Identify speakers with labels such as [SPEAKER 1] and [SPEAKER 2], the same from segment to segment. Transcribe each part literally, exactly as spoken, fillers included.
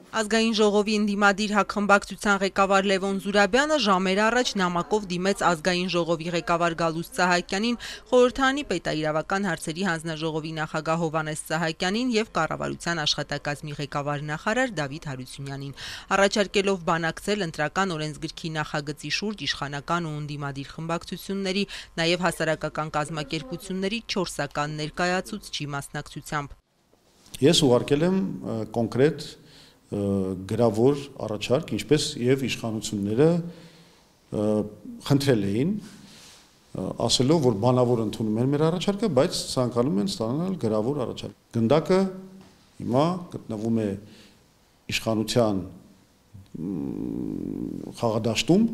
[SPEAKER 1] Ազգային ժողովի ընդդիմադիր հակխմբակցության ղեկավար Լևոն Զուրաբյանը ժամեր առաջ նամակով դիմեց ազգային ժողովի ղեկավար Գալուստ Սահակյանին, խորհրդարանի պետաիրավական հարցերի հանձնաժողովի նախագահ Հովհաննես Սահակյանին եւ կառավարության աշխատակազմի ղեկավար նախարար Դավիթ Հարությունյանին, առաջարկելով բանակցել ընտրական օրենսգրքի նախագծի շուրջ իշխանական ու ընդդիմադիր խմբակցությունների, նաեւ հասարակական կազմակերպությունների չորսական ներկայացուցչի մասնակցությամբ։
[SPEAKER 2] Ես ուղարկել եմ կոնկրետ գրավոր առաջարկ, ինչպես եւ իշխանությունները խնդրել էին, ասելով, որ բանավոր ընդունում են մեր առաջարկը, բայց ցանկանում են ստանալ գրավոր առաջարկ։ Գնդակը հիմա գտնվում է իշխանության խաղադաշտում։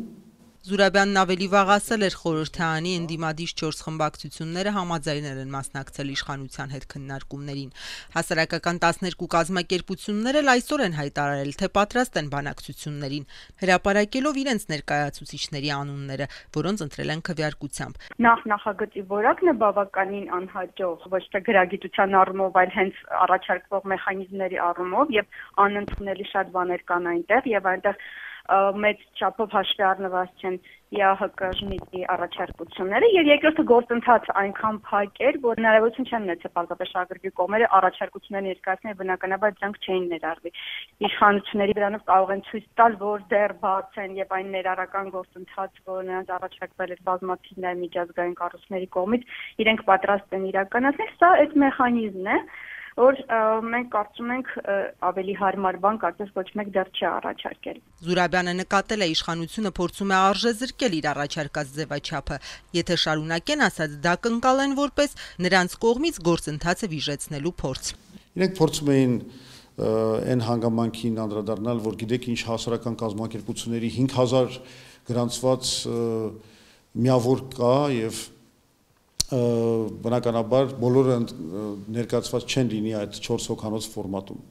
[SPEAKER 1] Զուրաբյանն ավելի վաղ ասել էր, խորհրդարանի ընդդիմադիր չորս խմբակցությունները համաձայնել են մասնակցել իշխանության հետ քննարկումներին։ Հասարակական տասներկու կազմակերպություններ էլ այսօր են հայտարարել, թե պատրաստ են բանակցություններին, հրապարակելով իրենց ներկայացուցիչների անունները, որոնց ընտրել են քվեարկությամբ։
[SPEAKER 3] Նախ նախագծի որակն է բավականին անհաջող, ոչ թե գրագիտության առումով, այլ հենց առաջարկվող մեխանիզմների առումով, եւ անընդունելի շատ բաներ կան այնտեղ, եւ այնտեղ մեծ չափով հաշվի առնված չեն ԵԱՀԿ ժմիդի առաջարկությունները, եւ երկրորդը գործընթացը այնքան փակ էր, որ հնարավորություն չեն ունեցել պարզապես շահագրգիռ կողմերը առաջարկություններ ներկայացնել, բնականաբար դրանք չէին ներառվի։ Իշխանությունների դրանով կարող են ցույց տալ, որ դեռ բաց են, եւ այն ներառական գործընթաց, որ նրանց առաջարկվել էր բազմաթիվ նաեւ միջազգային կառույցների կողմից, իրենք պատրաստ են իրականացնել։ Սա այդ մեխանիզմն է, որ մենք կարծում ենք ավելի հարմար բան կարծես ոչ մեկ դեռ չի առաջարկել։
[SPEAKER 1] Զուրաբյանը նկատել է, իշխանությունը փորձում է արժեզրկել իր առաջարկած ձևաչափը, եթե շարունակեն ասած դա կընկալեն որպես նրանց կողմից գործընթացը վիժեցնելու փորձ։
[SPEAKER 2] Իրենք փորձում էին այն հանգամանքին անդրադառնալ, որ գիտեք ինչ հասարակական կազմակերպությունների հինգ հազար գրանցված միավոր կա եւ բնականաբար բոլորը ներկայացված չեն լինի այդ չորս հոգանոց ֆորմատում։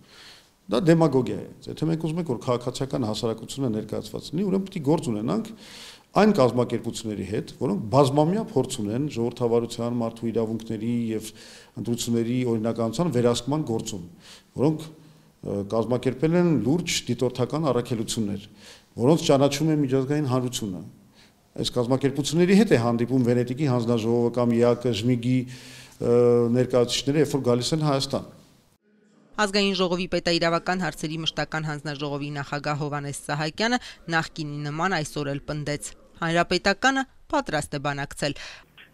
[SPEAKER 2] Դա դեմագոգիա է։ Եթե մենք ուզում ենք, որ քաղաքացիական հասարակությունը ներկայացված լինի, ուրեմն պետք է գործ ունենանք այն կազմակերպությունների հետ, որոնք բազմամյա փորձ ունեն ժողովրդավարության, մարդու իրավունքների եւ ընտրությունների օրինականության վերահսկման գործում, որոնք կազմակերպել են լուրջ դիտորդական առաքելություններ, որոնց ճանաչում է միջազգային հանրությունը։ Այս կազմակերպությունների հետ է հանդիպում Վենետիկի հանձնաժողովը կամ ԵԱՀԿ ժմիդի ներկայացուցիչները, երբ որ գալիս են Հայաստան։
[SPEAKER 1] Ազգային ժողովի պետաիրավական հարցերի մշտական հանձնաժողովի նախագահ Հովհաննես Սահակյանը նախկինի նման այսօր էլ պնդեց. Հանրապետականը պատրաստ է բանակցել։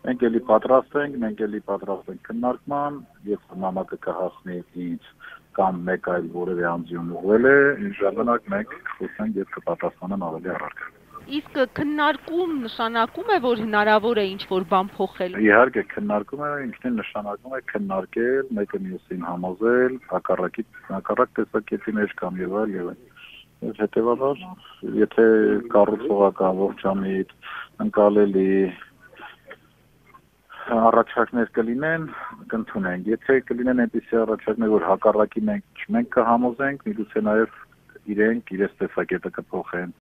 [SPEAKER 4] Մենք էլի պատրաստ ենք, մենք էլի պատրաստ ենք քննարկման, երբ նամակը կհասնի ինձ կամ մեկ այլ որևէ անձին ուղղել է, ինչ ժամանակ մենք խոսենք եւ կպատասխանեն ավելի առարկա։
[SPEAKER 1] Իսկ քննարկում նշանակում է, որ հնարավոր է ինչ-որ բան փոխել։
[SPEAKER 4] Իհարկե, քննարկում է, ինքնին նշանակում է քննարկել, մեկը մյուսին համոզել, հակառակի հակառակ տեսակետի մեջ կամ եւ այլ եւ այլ։ Եվ հետեւաբար, եթե կառուցողական ողջամիտ, ընկալելի առաջարկներ կլինեն, կընդունենք։ Եթե կլինեն այնպիսի առաջարկներ, որ հակառակի մենք չմենք կհամոզենք, միգուցե նաեւ իրենք իրենց տեսակետը կփոխեն։